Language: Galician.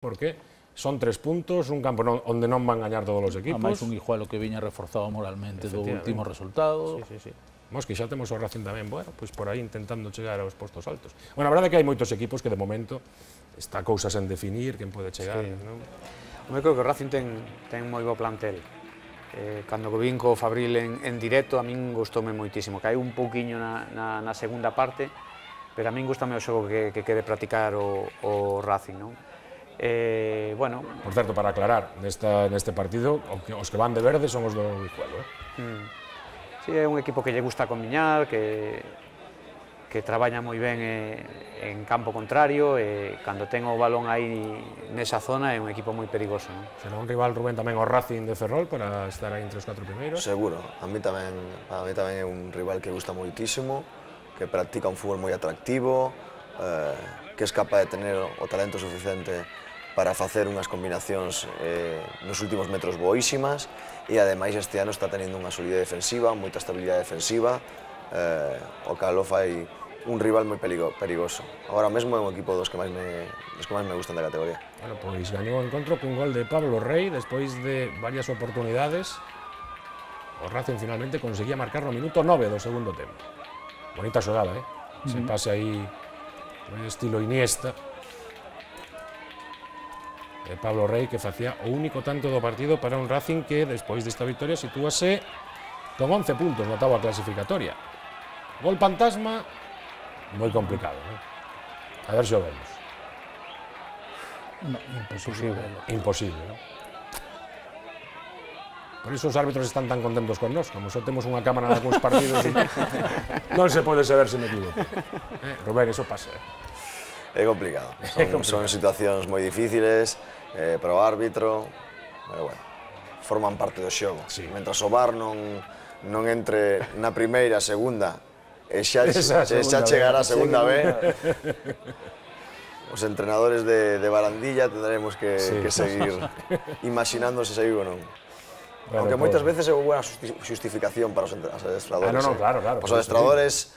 porque son 3 puntos, un campo onde non van gañar todos os equipos. A máis un Guijuelo que viña reforzado moralmente do último resultado. Mos que xa temos o Racing tamén, bueno, pois por aí intentando chegar aos postos altos. Bueno, a verdade é que hai moitos equipos que de momento está cousas en definir, quen pode chegar, non? Eu creo que o Racing ten moi bo plantel. Cando o vin co Fabril en directo, a min gustoume moitísimo. Caeu un pouquiño na segunda parte, pero a min gustame o xogo que quere practicar o Racing, non? Bueno... Por certo, para aclarar, neste partido, os que van de verde son os do Guijuelo, Sí, é un equipo que lle gusta combiñar, que traballa moi ben en campo contrario, e cando ten o balón aí nesa zona é un equipo moi perigoso, non? Será un rival, Rubén, tamén o Racing de Ferrol para estar aí entre os 4 primeiros? Seguro, a mí tamén é un rival que gusta moitísimo, que practica un fútbol moi atractivo, que es capaz de tener o talento suficiente para facer unhas combinacións nos últimos metros boísimas, e ademais este ano está tenindo unha solidez defensiva, moita estabilidade defensiva, o cal o fai un rival moi perigoso. Agora mesmo é un equipo dos que máis me gustan da categoría. Bueno, pois gañou o encontro cun gol de Pablo Rey despois de varias oportunidades. O Racing finalmente conseguía marcar no minuto 9 do segundo tempo. Bonita xogada, Se pase aí no estilo Iniesta. Pablo Rey, que facía o único tanto do partido para un Racing que, despois desta victoria, sitúase con 11 puntos na táboa clasificatoria. Gol fantasma, moi complicado, A ver se o vemos. No, imposible. Imposible, non? Por iso os árbitros están tan contentos con nós, como só temos unha cámara nalgúns partidos, non se pode saber se me equivoco. Rubén, iso pasa, É complicado, son situacións moi difíciles para o árbitro, pero bueno, forman parte do xogo. Mentras o VAR non entre na primeira, segunda, e xa chegará a segunda vez, os entrenadores de barandilla tendremos que seguir imaginando se saiu ou non. Aunque moitas veces é unha buena justificación para os adestradores. Claro. Os adestradores